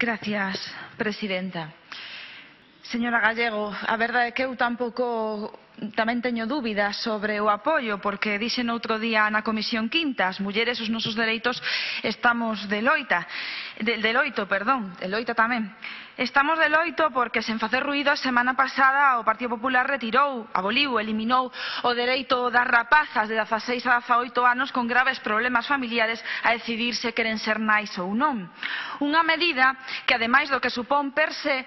Gracias, presidenta. Señora Gallego, a verdade é que eu tamén teño dúbidas sobre o apoio, porque dixen outro día na Comisión Quinta, as mulleres os nosos dereitos estamos de loita tamén. Estamos de loito porque, sen facer ruído, a semana pasada o Partido Popular eliminou o dereito das rapazas de 16 a 18 anos con graves problemas familiares a decidir se queren ser nais ou non. Unha medida que, ademais do que supón per se,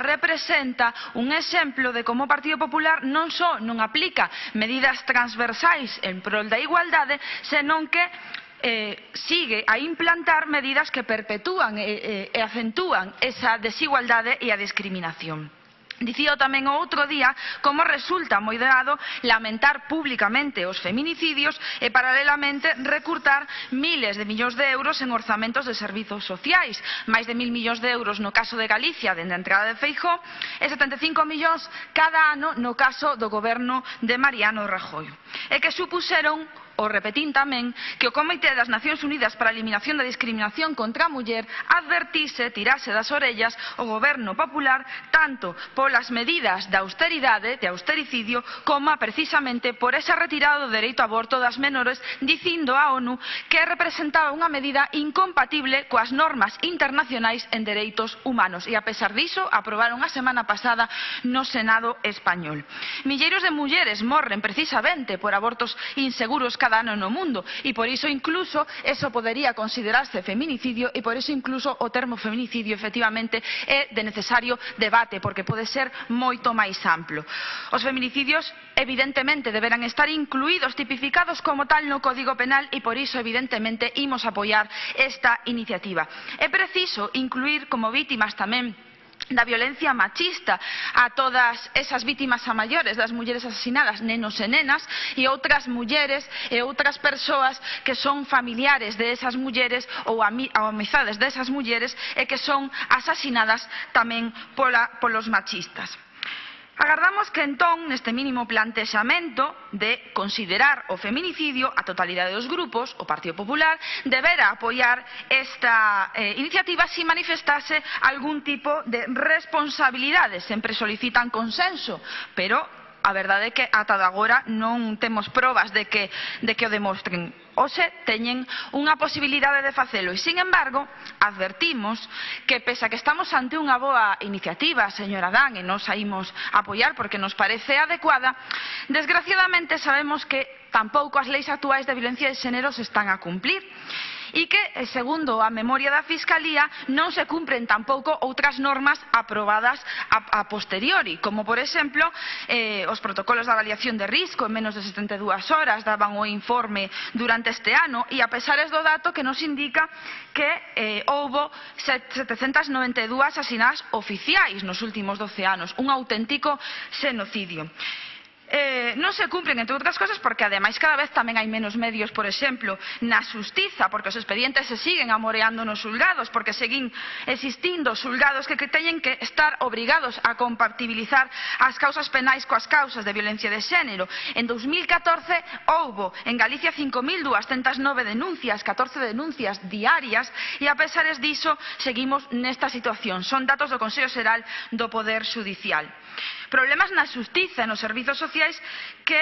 representa un exemplo de como o Partido Popular non só non aplica medidas transversais en prol da igualdade, senón que sigue a implantar medidas que perpetúan e acentúan esa desigualdade e a discriminación. Dicía tamén o outro día como resulta moi doado lamentar públicamente os feminicidios e paralelamente recurtar miles de millóns de euros en orzamentos de servizos sociais, máis de 1.000 millóns de euros no caso de Galicia dende a entrada de Feijóo e 75 millóns cada ano no caso do goberno de Mariano Rajoy, e que supuseron, o repetín tamén, que o Comité das Nacións Unidas para a Eliminación da Discriminación contra a Muller advertise, tirase das orellas o goberno popular tanto polas medidas de austeridade, de austericidio, como precisamente por esa retirada do dereito ao aborto das menores, dicindo a ONU que representaba unha medida incompatible coas normas internacionais en dereitos humanos, e a pesar diso aprobaron a semana pasada no Senado español. Milleiros de mulleres morren precisamente por abortos inseguros cada ano no mundo, e por iso incluso eso podería considerarse feminicidio, e por iso incluso o termo feminicidio efectivamente é de necesario debate, porque pode ser moito máis amplo. Os feminicidios evidentemente deberán estar incluídos, tipificados como tal no Código Penal, e por iso evidentemente imos apoiar esta iniciativa. É preciso incluir como vítimas tamén da violencia machista a todas esas vítimas a maiores das mulleres asasinadas, nenos e nenas, e outras mulleres e outras persoas que son familiares de esas mulleres ou amizades desas mulleres e que son asasinadas tamén polos machistas. Agardamos que entón, neste mínimo plantexamento de considerar o feminicidio, a totalidade dos grupos, o Partido Popular, debera apoiar esta iniciativa se manifestase algún tipo de responsabilidade. Sempre solicitan consenso, pero a verdade é que ata agora non temos probas de que o demostren. Hoxe teñen unha posibilidade de facelo e, sin embargo, advertimos que, pese a que estamos ante unha boa iniciativa, señora Dan, e nos a imos apoiar porque nos parece adecuada, desgraciadamente sabemos que tampouco as leis actuais de violencia de xénero se están a cumplir, e que, segundo a memoria da Fiscalía, non se cumpren tampouco outras normas aprobadas a posteriori, como, por exemplo, os protocolos de avaliación de risco en menos de 72 horas daban o informe durante este ano, e a pesares do dato que nos indica que houbo 792 asasinadas oficiais nos últimos 12 anos, un auténtico xenocidio. Non se cumpren, entre outras cosas, porque ademais cada vez tamén hai menos medios, por exemplo, na xustiza, porque os expedientes se siguen amoreando nos xulgados, porque seguen existindo xulgados que teñen que estar obrigados a compatibilizar as causas penais coas causas de violencia de xénero. En 2014 houbo en Galicia 5.209 denuncias, 14 denuncias diarias, e a pesares diso seguimos nesta situación. Son datos do Consello Xeral do Poder Xudicial. Problemas na xustiza e nos servizos sociais que,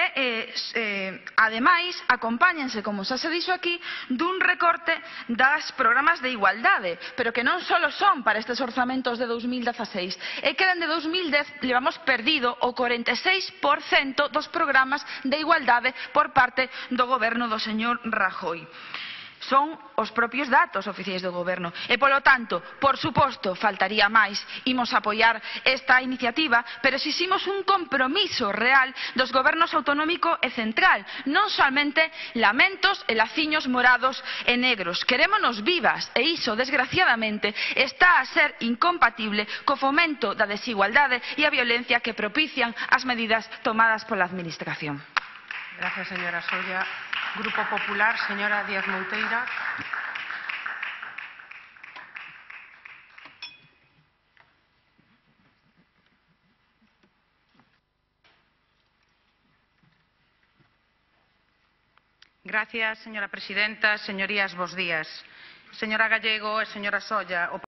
ademais, acompáñense, como xa se dixo aquí, dun recorte das programas de igualdade, pero que non só son para estes orzamentos de 2016, é que dende 2010 levamos perdido o 46% dos programas de igualdade por parte do goberno do señor Rajoy. Son os propios datos oficiais do goberno e, polo tanto, por suposto, faltaría máis, imos apoiar esta iniciativa, pero exiximos un compromiso real dos gobernos autonómico e central, non soamente lamentos e laciños morados e negros. Querémonos vivas e iso, desgraciadamente, está a ser incompatible co fomento da desigualdade e a violencia que propician as medidas tomadas pola Administración. Gracias, señora Solla. Grupo Popular, señora Díaz Mouteira. Gracias, señora presidenta. Señorías, bos días. Señora Gallego e señora Solla,